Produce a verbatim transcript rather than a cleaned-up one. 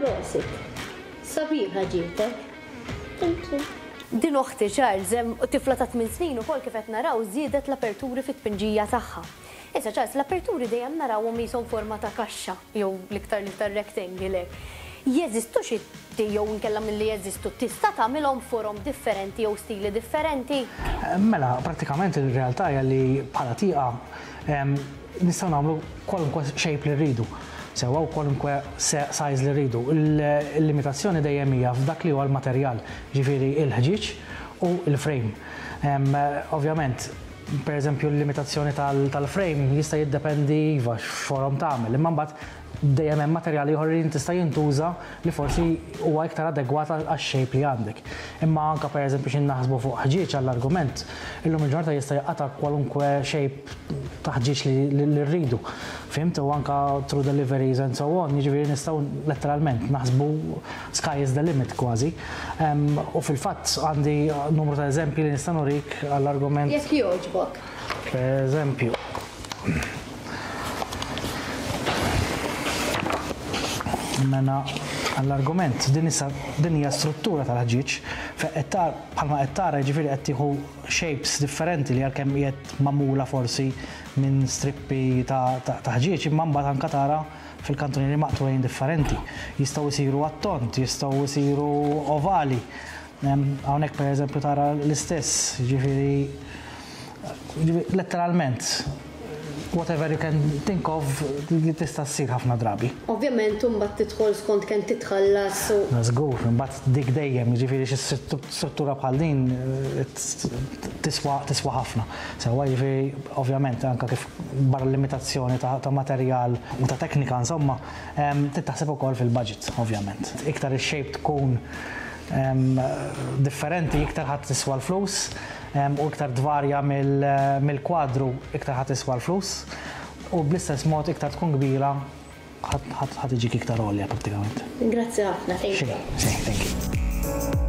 Prosit. Sabiħa ġietek. Thank you. Din oħti Charles, hemm tifla ta' tmien snin ukoll kif qed naraw żiedet l-aperturi fit-tpinġija tagħha. Issa Charles, l-aperturi dejjem narawhom qishom forma ta' kaxxa jew l-iktar l-iktar rectangle hekk. Jeżistu xi jew inkella milli jeżistu tista' tagħmilhom forom differenti jew stili differenti? Mela, prattikament il-realtà hija li bħala tieqa em, nistgħu nagħmlu kwalunkwe shape li rridu. Sewwa u kwalunkwe se- size li rridu. Il- Il-limitazzjoni dejjem hija f'dak li huwa l-materjal, ġifieri il-ħġieġ u il-frame. Em, Ovvjament, per eżempju l-limitazzjoni tal- tal-frame jista' jiddependi iva x'forom tagħmel, imma mbagħad dejjem hemm materjali ieħor li tista' jintuża li forsi huwa iktar adegwat għax-shape li għandek. Imma anka per eżempju xi naħsbu fuq ħġieġ għall-argument, illum il-ġurnata jista' jaqta' kwalunkwe shape ta' ħġieġ li, li, li rridu. Fhimt u anka through deliveries and so on, jiġifieri nistgħu letteralment naħsbu sky is the limit kważi. Em, U fil-fatt għandi numru ta' eżempji li nista' nurik għall-argument. Jekk jogħġbok. Per eżempju, mela għall-argument din issa din hija struttura tal-ħġieġ fejn qed tar bħalma qed tara jiġifieri qed tieħu shapes differenti li għalkemm qiegħed magħmula forsi minn strippi ta' ta' ta' ħġieġ imma mbagħad anke tara fil-kantunieri maqtugħin differenti. Jistgħu jsiru għat-tond, jistgħu jsiru ovali. Em, Hawnhekk pereżempju tara l-istess, jiġifieri Ġifieri, letteralment, whatever you can think of, li tista' ssir ħafna drabi. Ovvjament imbagħad tidħol skont kemm titħallas u Żgur, imbagħad dik dejjem, jiġifieri xi struttura bħal din eh, tiswa tiswa ħafna. Sewwa jiġifieri ovvjament anke kif barra l-limitazzjoni ta', ta' materjal u ta' teknika insomma, em, trid taħseb ukoll fil-budget, ovvjament. Iktar ix-shape tkun em, differenti, iktar ħadd tiswa l-flus, em, u iktar tvarja mill- mill-kwadru, iktar ħadd tiswa l-flus, u bl-istess mod iktar tkun kbira ħadd ħadd iġik iktar għolja prattikament. Grazzi ħafna, thank you. Xejn, xejn, thank you.